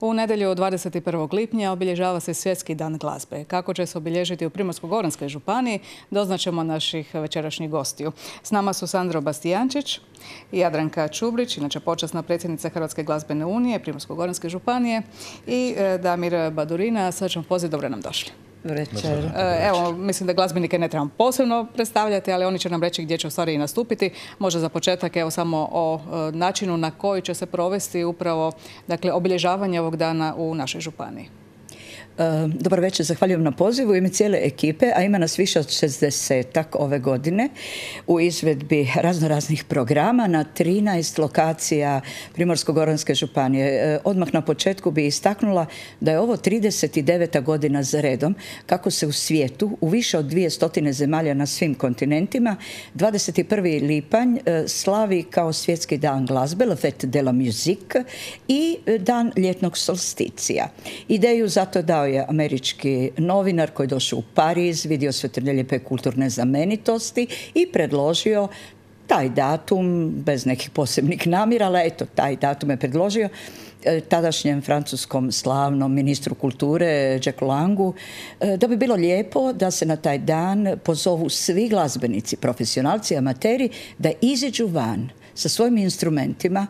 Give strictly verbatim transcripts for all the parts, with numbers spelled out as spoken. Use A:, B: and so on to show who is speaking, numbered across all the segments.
A: U nedjelju dvadeset prvog lipnja obilježava se Svjetski dan glazbe. Kako će se obilježiti u Primorsko-goranskoj županiji, doznaćemo naših večerašnjih gostiju. S nama su Sandro Bastijančić i Jadranka Čubrić, inače počasna predsjednica Hrvatske glazbene unije Primorsko-goranske županije, i Damir Badurina. Sad ćemo pozivati, dobro nam došli.
B: Večer.
A: Evo, mislim da glazbenike ne trebamo posebno predstavljati, ali oni će nam reći gdje će u stvari i nastupiti. Možda za početak evo samo o načinu na koji će se provesti upravo, dakle, obilježavanje ovog dana u našoj županiji.
B: Dobar večer, zahvaljujem na pozivu u ime cijele ekipe, a ima nas više od šezdesetak ove godine u izvedbi raznoraznih programa na trinaest lokacija Primorsko-goranske županije. Odmah na početku bi istaknula da je ovo trideset deveta godina za redom kako se u svijetu u više od dvije stotine zemalja na svim kontinentima dvadeset prvi lipanj slavi kao Svjetski dan glazbe, La Fête de la Musique, i dan ljetnog solsticija. Ideju zato dao je američki novinar koji je došao u Pariz, vidio sve te lijepe kulturne znamenitosti i predložio taj datum bez nekih posebnih namjera, ali eto, taj datum je predložio tadašnjem francuskom slavnom ministru kulture Jacques Langu, da bi bilo lijepo da se na taj dan pozovu svi glazbenici, profesionalci, amateri, da iziđu van sa svojim instrumentima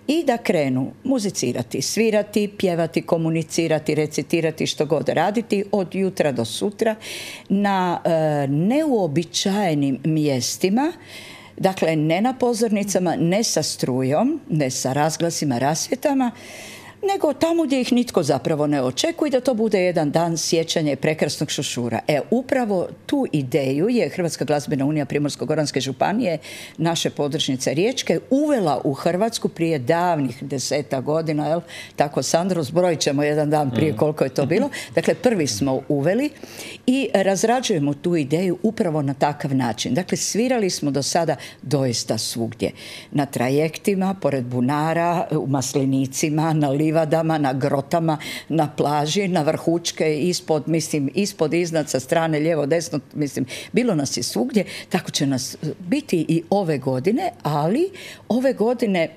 B: i da krenu muzicirati, svirati, pjevati, komunicirati, recitirati, što god raditi od jutra do sutra na e, neuobičajenim mjestima. Dakle, ne na pozornicama, ne sa strujom, ne sa razglasima, rasvjetama, nego tamo gdje ih nitko zapravo ne očekuje, da to bude jedan dan sjećanja i prekrasnog šušura. E, upravo tu ideju je Hrvatska glazbena unija Primorsko-goranske županije, naše podružnice Riječke, uvela u Hrvatsku prije davnih deseta godina, jel? Tako, Sandro, zbrojit ćemo jedan dan prije koliko je to bilo. Dakle, prvi smo uveli i razrađujemo tu ideju upravo na takav način. Dakle, svirali smo do sada doista svugdje. Na trajektima, pored bunara, u maslinicima, na livadama, na grotama, na plaži, na vrhučke, ispod, mislim, ispod, iznad, sa strane, lijevo, desno, mislim, bilo nas je svugdje. Tako će nas biti i ove godine, ali ove godine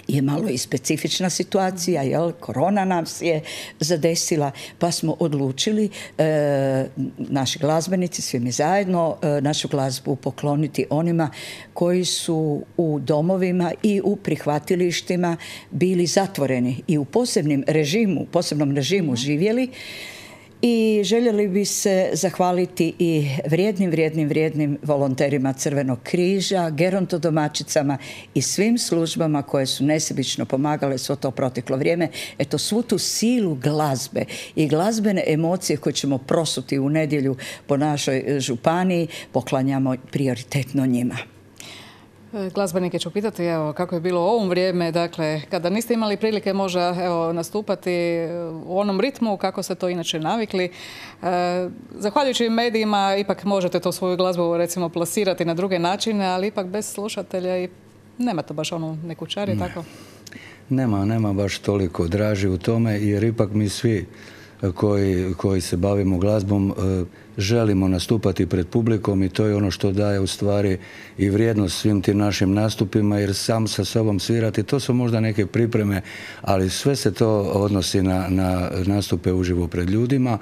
B: je malo i specifična situacija, jel? Korona nas je zadesila, pa smo odlučili, e, naši glazbenici, svi mi zajedno, e, našu glazbu pokloniti onima koji su u domovima i u prihvatilištima bili zatvoreni i u posebnim režimu, posebnom režimu živjeli. I željeli bi se zahvaliti i vrijednim, vrijednim, vrijednim volonterima Crvenog križa, gerontodomaćicama i svim službama koje su nesebično pomagale svo to proteklo vrijeme. Eto, svu tu silu glazbe i glazbene emocije koje ćemo prosuti u nedjelju po našoj županiji poklanjamo prioritetno njima.
A: Glazbenike ću pitati, evo, kako je bilo u ovom vrijeme, dakle, kada niste imali prilike možda, evo, nastupati u onom ritmu, kako ste to inače navikli. E, zahvaljujući medijima, ipak možete to svoju glazbu, recimo, plasirati na druge načine, ali ipak bez slušatelja i nema to baš onu neku čari, tako?
C: Nema, nema baš toliko draži u tome, jer ipak mi svi koji, koji se bavimo glazbom želimo nastupati pred publikom i to je ono što daje u stvari i vrijednost svim tim našim nastupima, jer sam sa sobom svirati, to su možda neke pripreme, ali sve se to odnosi na, na nastupe uživo pred ljudima.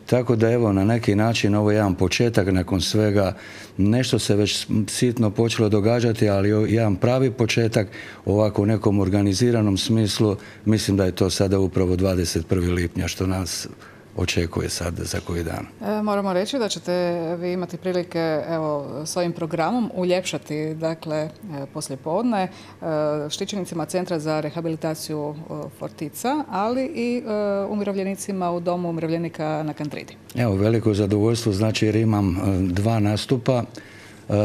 C: Tako da evo, na neki način ovo je jedan početak nakon svega, nešto se već sitno počelo događati, ali jedan pravi početak ovako u nekom organiziranom smislu, mislim da je to sada upravo dvadeset prvog lipnja što nas očekuje sad za koji dan.
A: E, moramo reći da ćete vi imati prilike, evo, s ovim programom uljepšati, dakle, poslije podne štićenicima Centra za rehabilitaciju Fortica, ali i e, umirovljenicima u Domu umirovljenika na Kantridi.
C: Evo, veliko zadovoljstvo, znači, jer imam dva nastupa,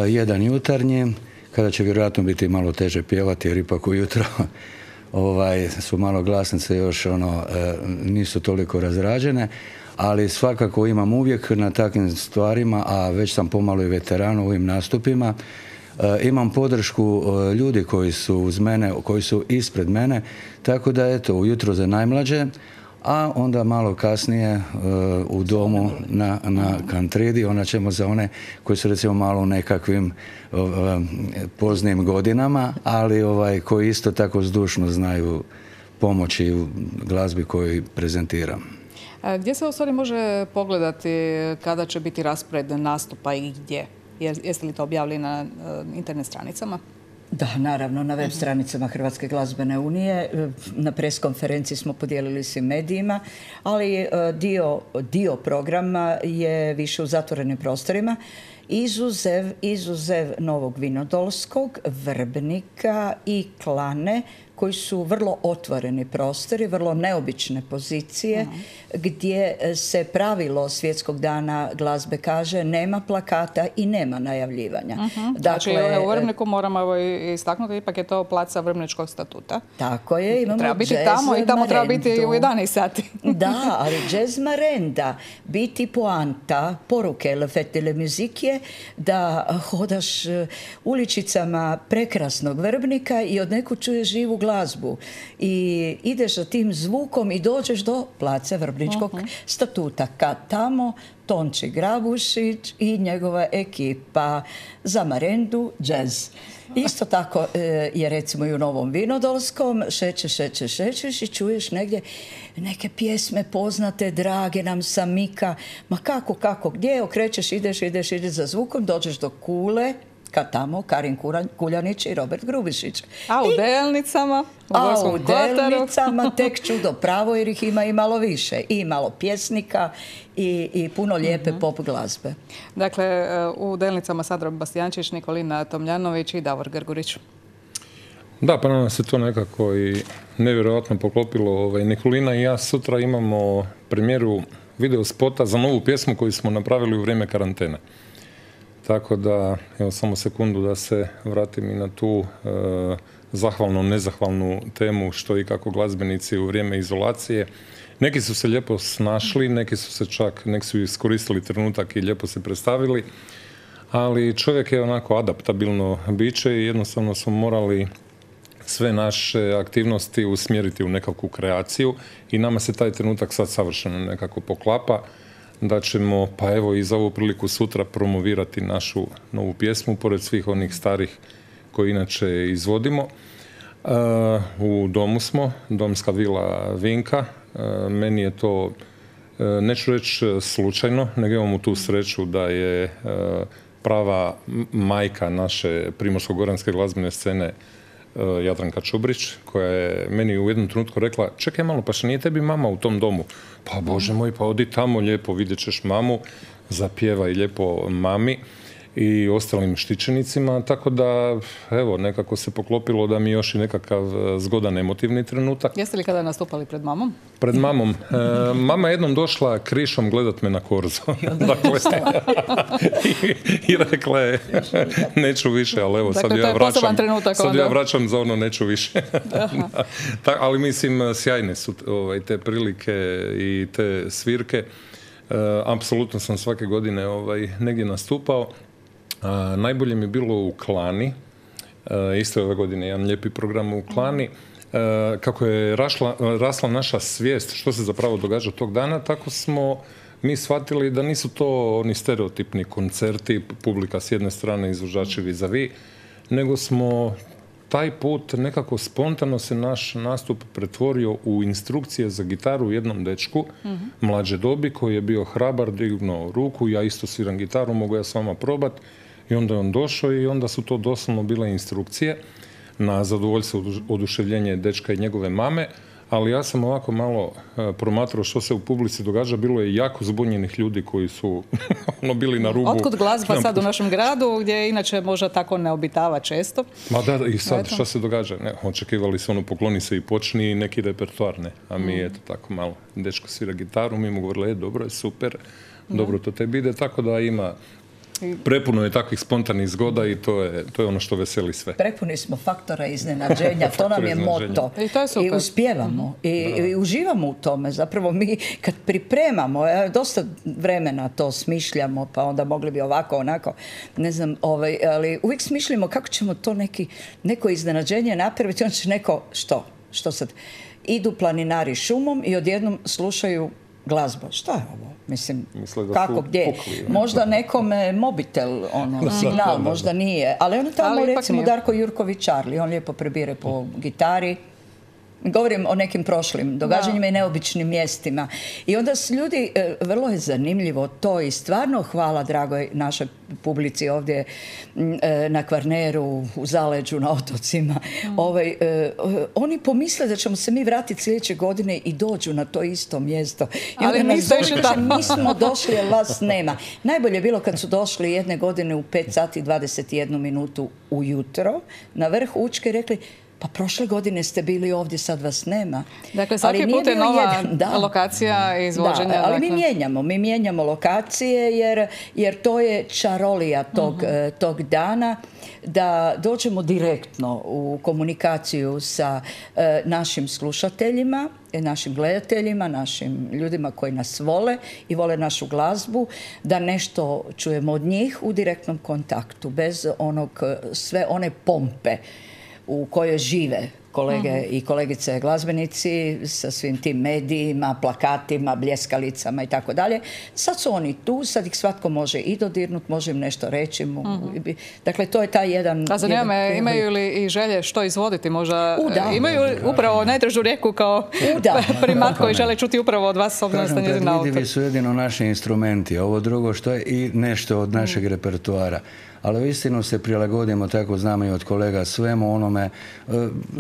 C: jedan jutarnji, kada će vjerojatno biti malo teže pjevati, jer ipak ujutro Ovaj, su malo glasnice još ono, e, nisu toliko razrađene, ali svakako imam uvijek na takvim stvarima, a već sam pomalo i veteran u ovim nastupima, e, imam podršku e, ljudi koji su uz mene, koji su ispred mene, tako da eto, ujutro za najmlađe, a onda malo kasnije uh, u domu na, na Kantridi, onda ćemo za one koji su recimo malo u nekakvim uh, poznim godinama, ali ovaj, koji isto tako zdušno znaju pomoći u glazbi koju prezentiram.
A: Gdje se u stvari može pogledati kada će biti raspored nastupa i gdje? Jeste li to objavili na internet stranicama?
B: Da, naravno, na web stranicama Hrvatske glazbene unije. Na pres konferenciji smo podijelili svim medijima, ali dio, dio programa je više u zatvorenim prostorima. Izuzev, izuzev Novog Vinodolskog, Vrbnika i Klane, koji su vrlo otvoreni prostori, vrlo neobične pozicije, uh-huh. gdje se pravilo Svjetskog dana glazbe kaže nema plakata i nema najavljivanja.
A: Uh-huh. Dakle, znači, u Vrbniku moramo evo istaknuti, ipak je to placa Vrbničkog statuta.
B: Tako je, imamo
A: treba biti tamo i tamo treba biti u jedanaest sati.
B: Da, ali jazz marenda, biti poanta, poruke Le Fête de la Musique je da hodaš uličicama prekrasnog Vrbnika i od neku čuješ živu glazbu i ideš za tim zvukom i dođeš do place Vrbničkog uh-huh. statuta. Kad tamo Tonči Grabušić i njegova ekipa za marendu jazz. Isto tako je recimo i u Novom Vinodolskom, šećeš, šećeš, šećeš i čuješ negdje neke pjesme poznate, drage nam sa Mika. Ma kako, kako, gdje okrećeš, ideš, ideš, ideš za zvukom, dođeš do Kule, kad tamo Karin Kuljanić i Robert Grubišić.
A: A u I, Delnicama? U
B: a u Delnicama tek čudo pravo jer ih ima i malo više. I malo pjesnika i, i puno lijepe uh-huh. pop glazbe.
A: Dakle, u Delnicama Sadra Bastijančić, Nikolina Tomljanović i Davor Grgurić.
D: Da, pa nam se to nekako i nevjerojatno poklopilo. Ovaj, Nikolina i ja sutra imamo premijeru video spota za novu pjesmu koju smo napravili u vrijeme karantene. Tako da, evo samo sekundu da se vratim i na tu e, zahvalno, nezahvalnu temu što i kako glazbenici u vrijeme izolacije. Neki su se lijepo snašli, neki su se čak, neki su iskoristili trenutak i lijepo se predstavili, ali čovjek je onako adaptabilno biće i jednostavno smo morali sve naše aktivnosti usmjeriti u nekakvu kreaciju i nama se taj trenutak sad savršeno nekako poklapa da ćemo, pa evo i za ovu priliku sutra promovirati našu novu pjesmu, pored svih onih starih koje inače izvodimo. Uh, u domu smo, domska vila Vinka. Uh, meni je to, uh, neću reći slučajno, nego imamo tu sreću da je uh, prava majka naše primorsko-goranske glazbene scene uh, Jadranka Čubrić, koja je meni u jednom trenutku rekla, čekaj malo, pa što nije tebi mama u tom domu? Pa Bože moj, pa odi tamo lijepo, vidjet ćeš mamu, zapjevaj lijepo mami i ostalim štićenicima, tako da, evo, nekako se poklopilo da mi još i nekakav zgodan emotivni trenutak.
A: Jeste li kada nastupali pred mamom?
D: Pred mamom. E, mama je jednom došla krišom gledat me na korzo. Dakle, i, i rekla je, neću više, ali evo,
A: dakle,
D: sad, ja vraćam, sad
A: onda.
D: ja vraćam za ono neću više. Ta, ali mislim, sjajne su ovaj, te prilike i te svirke. E, apsolutno sam svake godine ovaj, negdje nastupao. A, najbolje mi je bilo u Klani, e, isto ove godine jedan lijepi program u Klani, e, kako je rašla, rasla naša svijest što se zapravo događa tog dana, tako smo mi shvatili da nisu to oni stereotipni koncerti, publika s jedne strane, izvođači vis-a-vis, nego smo taj put nekako spontano se naš nastup pretvorio u instrukcije za gitaru u jednom dečku, mm-hmm. mlađe dobi, koji je bio hrabar, dignuo ruku, ja isto sviram gitaru, mogu ja s vama probat. I onda je on došao i onda su to doslovno bile instrukcije na zadovoljstvo, oduševljenje dečka i njegove mame, ali ja sam ovako malo uh, promatrao što se u publici događa. Bilo je jako zbunjenih ljudi koji su ono, bili na rubu.
A: Otkud glazba sad u našem gradu, gdje inače možda tako ne obitava često?
D: Ma da, i sad šta se događa? Ne, očekivali su ono, pokloni se i počni neki repertoar, ne. A mi, mm. eto tako malo, dečko svira gitaru, mi mu govorili, e, dobro je, super, mm. dobro to tebi ide, tako da ima prepuno je takvih spontanih zgoda i to je, to je ono što veseli sve.
B: Prepuni smo faktora iznenađenja, to nam je moto.
A: I to je super.
B: I uspijevamo i, i uživamo u tome. Zapravo mi kad pripremamo, dosta vremena to smišljamo, pa onda mogli bi ovako, onako, ne znam, ovaj, ali uvijek smišljamo kako ćemo to neki, neko iznenađenje napraviti, onda će neko, što? Što sad? Idu planinari šumom i odjednom slušaju glazbu. Šta je ovo? Mislim, kako, gdje? Pukli, možda nekome mobitel, ono, signal, možda nije. Ali ono tamo, ali recimo, Darko Jurković Charlie, on lijepo prebire po gitari Govorim o nekim prošlim događanjima i neobičnim mjestima. I onda s ljudi, vrlo je zanimljivo to i stvarno hvala dragoj našoj publici ovdje na Kvarneru, u Zaleđu, na otocima. Mm. Ovaj, oni pomisle da ćemo se mi vratiti sljedeće godine i dođu na to isto mjesto. I
A: ali
B: onda
A: nismo
B: nas došli, nismo došli jer vas nema. Najbolje je bilo kad su došli jedne godine u pet sati i dvadeset jednu minutu ujutro na vrh Učke i rekli pa prošle godine ste bili ovdje, sad vas nema.
A: Dakle, svaki put je nova jedan, lokacija izvođenja.
B: Da, ali
A: dakle.
B: mi mijenjamo, mi mijenjamo lokacije jer, jer to je čarolija tog, uh-huh. tog dana, da dođemo direktno u komunikaciju sa uh, našim slušateljima, našim gledateljima, našim ljudima koji nas vole i vole našu glazbu, da nešto čujemo od njih u direktnom kontaktu, bez onog, sve one pompe u kojoj žive kolege mm-hmm. i kolegice glazbenici sa svim tim medijima, plakatima, bljeskalicama i tako dalje. Sad su oni tu, sad ih svatko može i dodirnut, može im nešto reći. Mm-hmm. Dakle, to je taj jedan...
A: A zanima me, imaju li i želje što izvoditi? Možda U, imaju li upravo najdražu rijeku kao primat koji žele čuti upravo od vas, obzirom da ste njezin autor?
C: Predvidivi su jedino naši instrumenti, ovo drugo što je i nešto od našeg mm. repertoara. Ali uistinu se prilagodimo, tako znamo i od kolega, svemu onome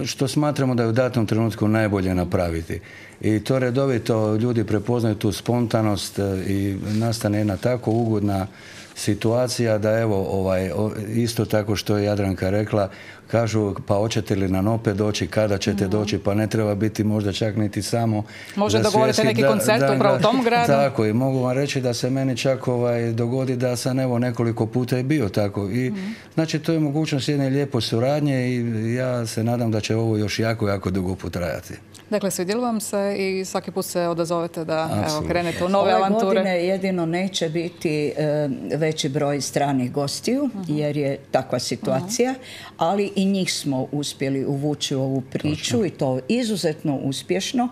C: što smatramo da je u datom trenutku najbolje napraviti. I to redovito ljudi prepoznaju tu spontanost i nastane jedna tako ugodna situacija da evo ovaj, isto tako što je Jadranka rekla, kažu pa hoćete li nam opet doći, kada ćete mm. doći, pa ne treba biti možda čak niti samo
A: možda dogovorite neki da, koncert da, upravo u tom gradu.
C: Tako i mogu vam reći da se meni čak ovaj, dogodi da sam evo nekoliko puta i bio tako i mm. znači to je mogućnost jedne lijepe suradnje i ja se nadam da će ovo još jako, jako dugo potrajati.
A: Dakle, svidjelo vam se i svaki put se odazovete da evo, krenete u nove
B: Ove
A: avanture.
B: Ove godine jedino neće biti e, veći broj stranih gostiju, uh-huh. jer je takva situacija, uh-huh. ali i njih smo uspjeli uvući u ovu priču Točno. I to izuzetno uspješno.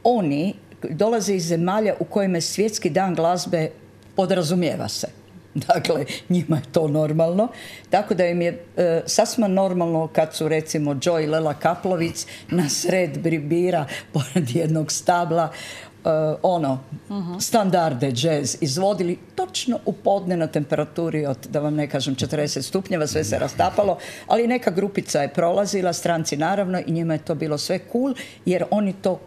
B: Oni dolaze iz zemalja u kojima je svjetski dan glazbe, podrazumijeva se. Dakle, njima je to normalno. Tako da im je e, sasvim normalno kad su recimo Joe i Lela Kaplovic na sred Bribira pored jednog stabla Uh, ono, uh-huh. standarde jazz izvodili točno u podne na temperaturi od, da vam ne kažem, četrdeset stupnjeva, sve se rastapalo, ali neka grupica je prolazila, stranci naravno, i njima je to bilo sve cool, jer oni to uh,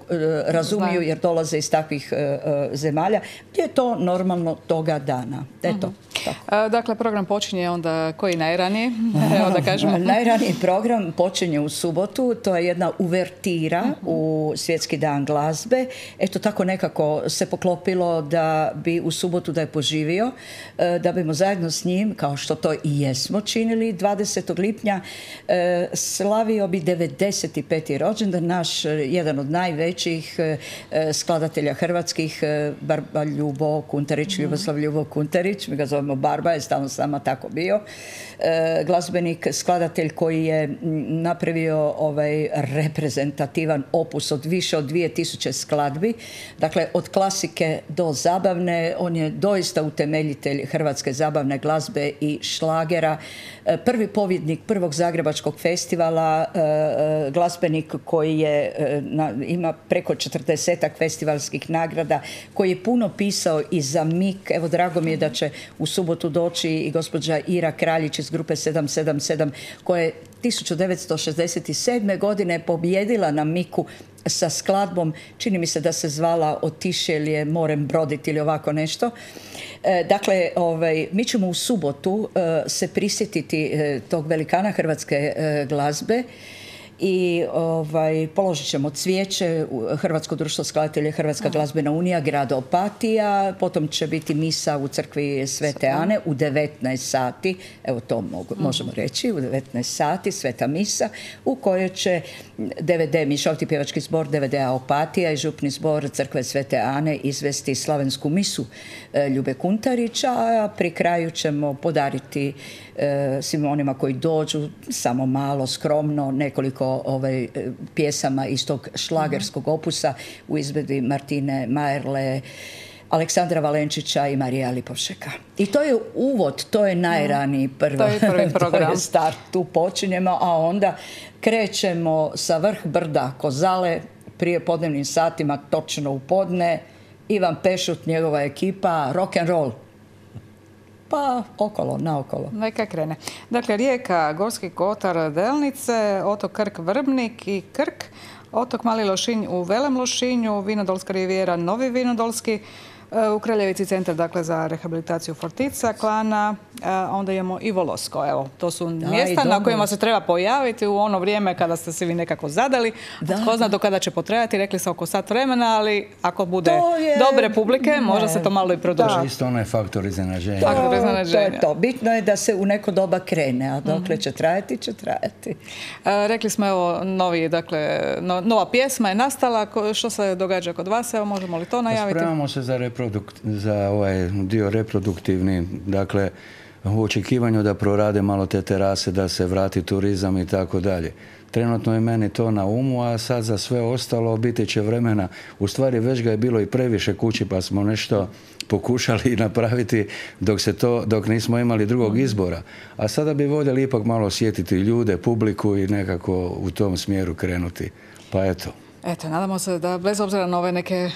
B: razumiju, jer dolaze iz takvih uh, uh, zemalja, gdje je to normalno toga dana. Eto, uh-huh. tako.
A: Dakle, program počinje onda koji najranije? Evo da kažemo.
B: Najraniji program počinje u subotu, to je jedna uvertira uh-huh. u Svjetski dan glazbe. Eto, tako nekako se poklopilo da bi u subotu da je poživio, da bimo zajedno s njim, kao što to i jesmo činili, dvadesetog lipnja slavio bi devedeset peti rođendan, naš jedan od najvećih skladatelja hrvatskih, Barba Ljubo Kuntarić, Ljuboslav Ljubo Kuntarić, mi ga zovemo Barba, je stalno s nama tako bio. Glazbenik, skladatelj koji je napravio ovaj reprezentativan opus od više od dvije tisuće skladbi. Dakle, od klasike do zabavne, on je doista utemeljitelj hrvatske zabavne glazbe i šlagera. Prvi pobjednik prvog zagrebačkog festivala, glazbenik koji je, ima preko četrdesetak festivalskih nagrada, koji je puno pisao i za Mik. Evo, drago mi je da će u subotu doći i gospođa Ira Kraljić iz grupe sedam sedam sedam, koja je tisuću devetsto šezdeset sedme. godine pobjedila na Miku sa skladbom, čini mi se da se zvala Otiše li je morem broditi ili ovako nešto. E, dakle, ovaj, mi ćemo u subotu e, se prisjetiti e, tog velikana hrvatske e, glazbe i ovaj, položit ćemo cvijeće u Hrvatsko društvo skladatelja, Hrvatska glazbena unija, grad Opatija, potom će biti misa u crkvi Svete Ane u devetnaest sati, evo to mogu, možemo reći, u devetnaest sati sveta misa, u kojoj će D V D, Mišoviti pjevački zbor D V D-a Opatija i župni zbor crkve Svete Ane izvesti slavensku misu e, Ljube Kuntarića, a pri kraju ćemo podariti e, svim onima koji dođu, samo malo, skromno, nekoliko ovaj, pjesama iz tog šlagerskog opusa u izvedbi Martine Majerle, Aleksandra Valenčića i Marija Lipovšeka. I to je uvod, to je najraniji prvi,
A: to je prvi program.
B: To je start, tu počinjemo, a onda krećemo sa vrh brda Kozale prije podnevnim satima, točno u podne, Ivan Pešut, njegova ekipa, rock and roll. Pa okolo, naokolo.
A: Neka krene. Dakle, Rijeka, Gorski kotar, Delnice, otok Krk, Vrbnik i Krk, otok Mali Lošinj u Velem Lošinju, Vinodolska rivijera, Novi Vinodolski, u Kraljevici centar, dakle, za rehabilitaciju Fortica, Klana, onda imamo i Volosko. Evo, to su mjesta na kojima se treba pojaviti u ono vrijeme kada ste se vi nekako zadali. Tko zna do kada će potrajati, rekli se oko sat vremena, ali ako bude dobre publike, možda se to malo i produži.
C: Isto onaj faktor iznenađenja.
B: To je to. Bitno je da se u neko doba krene, a dokle će trajati, će trajati.
A: Rekli smo, evo, novi, dakle, nova pjesma je nastala. Što se događa kod vas? Evo, možemo li to najaviti?
C: Spremamo se za za ovaj dio reproduktivni, dakle u očekivanju da prorade malo te terase, da se vrati turizam i tako dalje. Trenutno je meni to na umu, a sad za sve ostalo biti će vremena. U stvari već ga je bilo i previše kući, pa smo nešto pokušali napraviti dok se to, dok nismo imali drugog izbora. A sada bi voljeli ipak malo osjetiti ljude, publiku i nekako u tom smjeru krenuti. Pa eto.
A: Eto, nadamo se da bez obzira na ove neke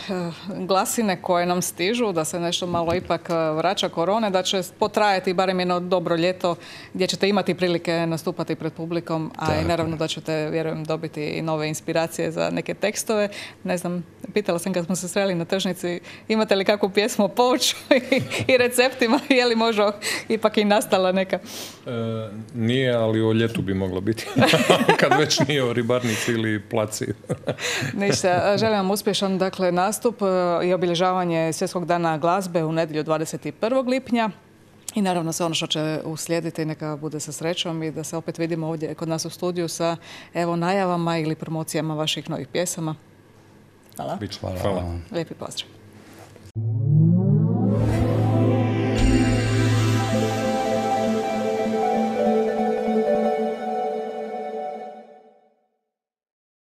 A: glasine koje nam stižu, da se nešto malo ipak vraća korone, da će potrajati barem jedno dobro ljeto gdje ćete imati prilike nastupati pred publikom, a i naravno da ćete, vjerujem, dobiti i nove inspiracije za neke tekstove. Ne znam, pitala sam kad smo se sreli na tržnici, imate li kakvu pjesmu o povrću i receptima, je li možda ipak i nastala neka?
D: E, nije, ali o ljetu bi moglo biti. Kad već nije o ribarnici ili placi.
A: Ništa, želim vam uspješan, dakle, nastup i obilježavanje Svjetskog dana glazbe u nedjelju dvadeset prvog lipnja. I naravno sve ono što će uslijediti, neka bude sa srećom i da se opet vidimo ovdje kod nas u studiju sa, evo, najavama ili promocijama vaših novih pjesama. Hvala.
C: Hvala.
A: Lijepi pozdrav.